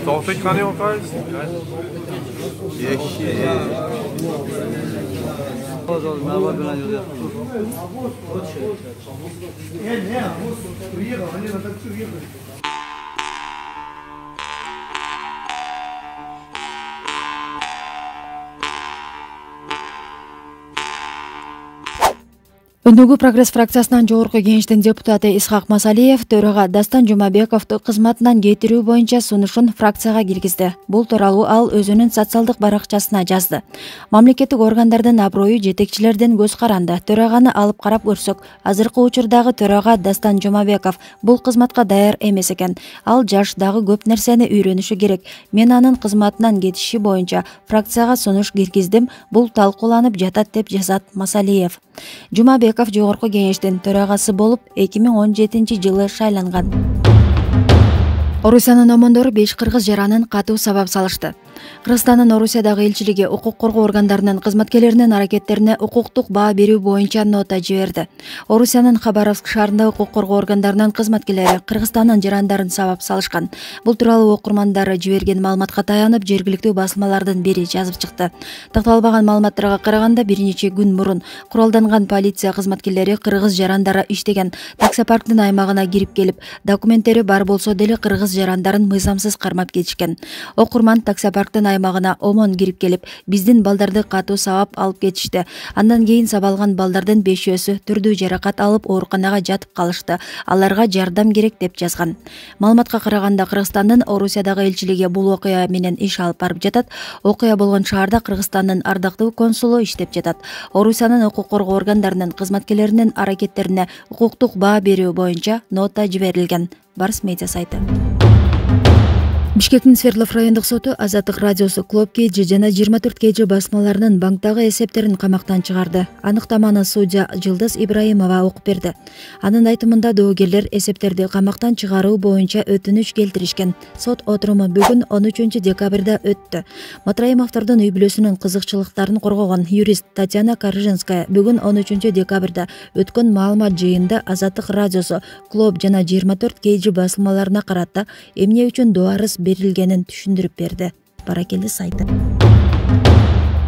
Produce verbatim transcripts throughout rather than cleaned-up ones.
Doch, ich kann ja auch alles. Өнүгүү прогресс фракциясынын жогорку кеңештин депутаты Исхак Масалиев төрага Дастан Жумабековду кызматынан кетирүү боюнча сунушун фракцияга киргизди. Бул тууралуу ал өзүнүн социалдык баракчасына жазды. Мамлекеттик органдардын аброю жетекчилердин көз каранды. Төраганы алып карап көрсөк, азыркы учурдагы төрага Дастан Жумабеков бул кызматка даяр эмес экен. Ал жаш дагы көп нерсени үйрөнүшү керек. Мен анын кызматынан кетиши боюнча фракцияга сунуш киргиздим. Бул талкууланып жатат деп жазат Масалиев. Жумабеков жогорку кеңештин төрагасы болуп эки миң он жетинчи жылы шайланган. Орусиянын омондору беш кыргыз жаранын катуу сабап салышты. Кыргызстандын Орусиядагы элчилиги укук коргоо органдарынын кызматкерлеринин аракеттерине укуктук баа берүү боюнча нота жиберди. Орусиянын Хабаровск шаарында укук коргоо органдарынын кызматкерлери Кыргызстандын жарандарын сабап салышкан. Бул тууралуу окурмандары жиберген маалыматка таянып, жергиликтүү басылмалардын бири жазып чыкты. Такталбаган маалыматтарга караганда, бир нече күн мурун куралданган полиция кызматкерлери кыргыз жарандары иштеген таксопарктын аймагына кирип келип, документтери бар болсо деле кыргыз жарандарын мыйзамсыз кармап кетишкен. Окурман таксопарктын аймагына омон кирип келип, биздин балдарды катуу сабап алып кетишти. Андан кийин сабалган балдардын бешөөсү түрдүү жаракат алып ооруканага жатып калышты. Аларга жардам керек деп жазган. Маалыматка караганда, Кыргызстандын Орусиядагы элчилиги бул окуя менен иш алып барып жатат. Окуя болгон шаарда Кыргызстандын ардактуу консулу иштеп жатат. Орусиянын укук коргоо органдарынын кызматкерлеринин аракеттерине укуктук баа берүү боюнча нота жиберилген. Барс медиа сайты. Бишкектин Свердлов райондук соту Азаттык радиосу Клуб кей джи жана жыйырма төрт кей джи басмаларынын банктагы эсептерин камактан чыгарды. Аныктаманы судья Жылдыз Ибраимова окуп берди. Анын айтымында доогерлер эсептерди камактан чыгаруу боюнча өтүнүч келтиришкен. Сот отуруму бүгүн он үчүнчү декабрда өттү. Матраимовдордун үй бүлөсүнүн кызыкчылыктарын коргогон юрист Татьяна Каржинская бүгүн он үчүнчү декабрда өткөн маалымат жыйынында Азаттык радиосу Клуб жана жыйырма төрт кей джи басылмаларына карата эмне үчүн дуарыз берилгенин түшүндүрүп берди. Баракелди сайты.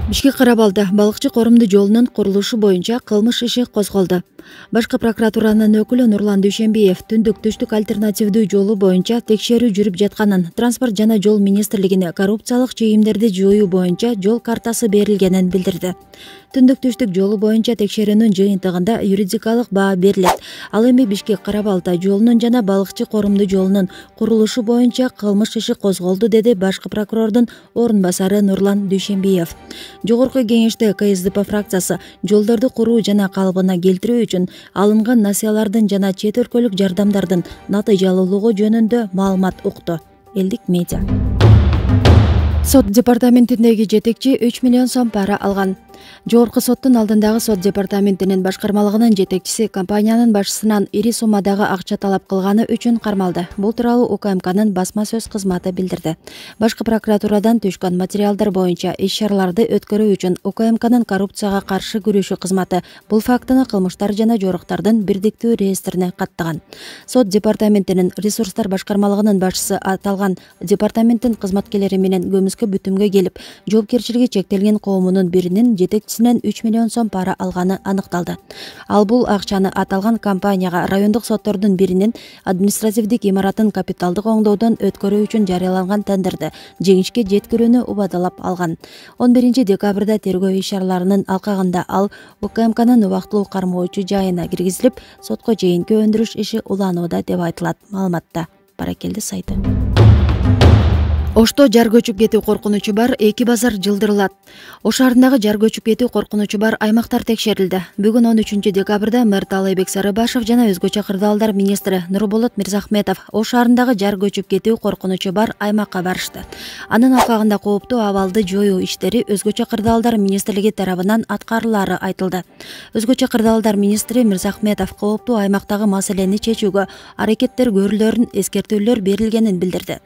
Бишкек Карабалда балыкчы корумду жолунун курулушу боюнча кылмыш иши козголду. Башкы прокуратуранын өкүлү Нурлан Дүйшөнбиев түндүк түштүк альтернативдүү жолу боюнча текшерүү жүрүп жатканын, транспорт жана жол министрлигине коррупциялык чыйымдерди жоюу боюнча жол картасы берилгенин билдирди. Түндүк түштүк жолу боюнча текшерүүнүн жыйынтыгында юридикалык баа берилет. Ал эми Бишкек Карабалда жолунун жана балыкчы корумду жолунун курулушу боюнча кылмыш иши козголду, деди башкы прокурордун орун басары Нурлан Дүйшөнбиев. Жогорку кеңеште ка эс дэ пэ фракциясы жолдорду куруу жана калыбына келтирүү үчүн алынган насыялардын жана чет өлкөлүк жардамдардын натыйжалуулугу жөнүндө маалымат укту. Элдик медиа. Сот департаментиндеги жетекчи үч миллион сом пара алган. Жогорку соттун алдындагы сот департаментинин башкармалыгынын жетекчиси компаниянын башчысынан ири суммадагы акча талап кылганы үчүн кармалды. Бул тууралуу у ка эм канын басма сөз кызматы билдирди. Башкы прокуратурадан түшкөн материалдар боюнча иш-чараларды өткөрүү үчүн у ка эм канын коррупцияга каршы күрөшүү кызматы бул фактыны кылмыштар жана жоруктардын бирдиктүү реестрине каттаган. Сот департаментинин ресурстар башкармалыгынын башчысы аталган департаменттин кызматкерлери менен көмүскө бүтүмгө келип, жоопкерчилиги чектелген коомунун биринин жетекчисинен үч миллион сом пара алганы аныкталды. Ал бул акчаны аталган компанияга райондук соттордун биринин административдик имаратын капиталдык оңдоодон өткөрүү үчүн жарыяланган тендерди жеңишке жеткирүүнү убадалап алган. он биринчи декабрда тергөө иш-чараларынын алкагында ал у ка эм канын убактылуу кармоочу жайына киргизилип, сотко чейинки өндүрүш иши уланууда деп айтылат маалыматта. Баракелди сайты. Ошто жар көчүп кетүү коркунучу бар эки базар жылдырылат. Ош шаарындагы жар көчүп кетүү коркунучу бар аймактар текшерилди. Бүгүн он үчүнчү декабрда мэр Таалайбек Сарыбашев жана өзгөчө кырдаалдар министри Нурболот Мирзахметов Ош шаарындагы жар көчүп кетүү коркунучу бар аймакка барышты. Анын алкагында кооптуу абалды жоюу иштери өзгөчө кырдаалдар министрлиги тарабынан аткарылаары айтылды. Өзгөчө кырдаалдар министри Мирзахметов кооптуу аймактагы маселени чечүүгө аракеттер көрүлөрүн, эскертүүлөр берилгенин билдирди.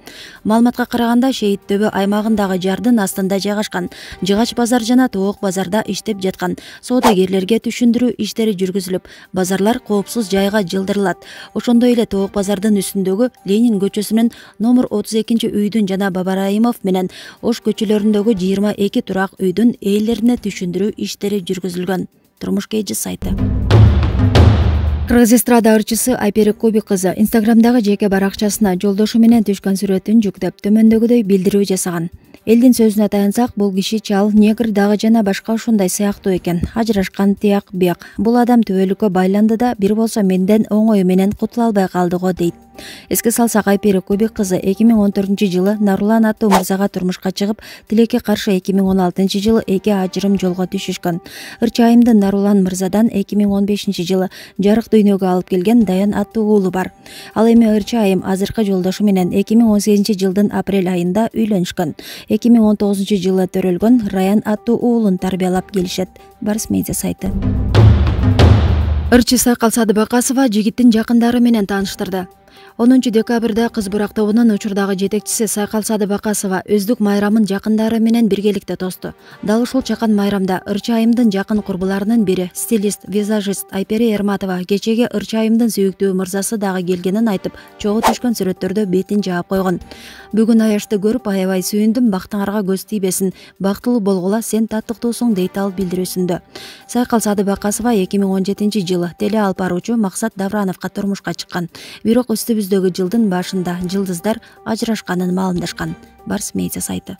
Маалыматка караганда Шейит Төбө аймагындагы жардын астында жайгашкан Жыгач базар жана Тоок базарда иштеп жаткан соодагерлерге түшүндүрүү иштери жүргүзүлүп, базарлар коопсуз жайга жылдырылат. Ошондой эле Тоок базардын үстүндөгү Ленин көчөсүнүн номер отуз экинчи үйдүн жана Бабараимов менен Ош көчөлөрүндөгү жыйырма эки турак үйдүн ээлерине түшүндүрүү иштери жүргүзүлгөн. Турмуш Кейжи сайты. Кыргыз эстрада ырчысы Айпери Коби кызы Инстаграмдагы жеке баракчасына жолдошу менен түшкөн сүрөтүн жүктөп, төмөндөгүдөй билдирүү жасаган. Элдин сөзүнө таянсак, бул киши чал, негр дагы жана башка ушундай сыяктуу экен. Ажырашкан, тияк, бияк. Бул адам түбөлүккө байланды да, бир болсо менден оңою менен кутула албай калды го, дейт. Эске салсак, Айпери Коби кызы эки миң он төртүнчү жылы Нарулан аттуу мырзага турмушка чыгып, тилекке каршы эки миң он алтынчы жылы эки ажырым жолго түшүшкөн. Ырчы айымдын Нарулан мырзадан эки миң он бешинчи жылы жарык дүйнөгө алып келген Даян аттуу уулу бар. Ал эми ырчы айым азыркы жолдошу менен эки миң он сегизинчи жылдын апрель айында үйлөнүшкөн. эки миң он тогузунчу жылы төрөлгөн Раян аттуу уулун тарбиялап келишет. Барс медиа сайты. Ырчы Сайкал Садыбакасова жигиттин жакындары менен тааныштырды. онунчу декабрда Кыз Бурак тобунун учурдагы жетекчиси Сайкал Садыбакасова өздүк майрамын жакындары менен биргеликте тосту. Дал ушул чакан майрамда ырчы айымдын жакын курбуларынын бири, стилист, визажист Айпери Эрматова кечеге ырчы айымдын сүйүктүү мырзасы дагы келгенин айтып, чогуу түшкөн сүрөттөрдө бетин жаап койгон. Бүгүн аячты көрүп аябай сүйүндүм, бактыңарга көз тийбесин, бактылуу болгула, сен таттыктуусуң, дейт ал билдирүүсүндө. Сайкал Садыбакасова эки миң он жетинчи жылы теле алып баруучу Максат Даврановго турмушка чыккан. Бирок үстүбүздөгү жылдын башында жылдыздар ажырашканын маалымдашкан. Барс медиа сайты.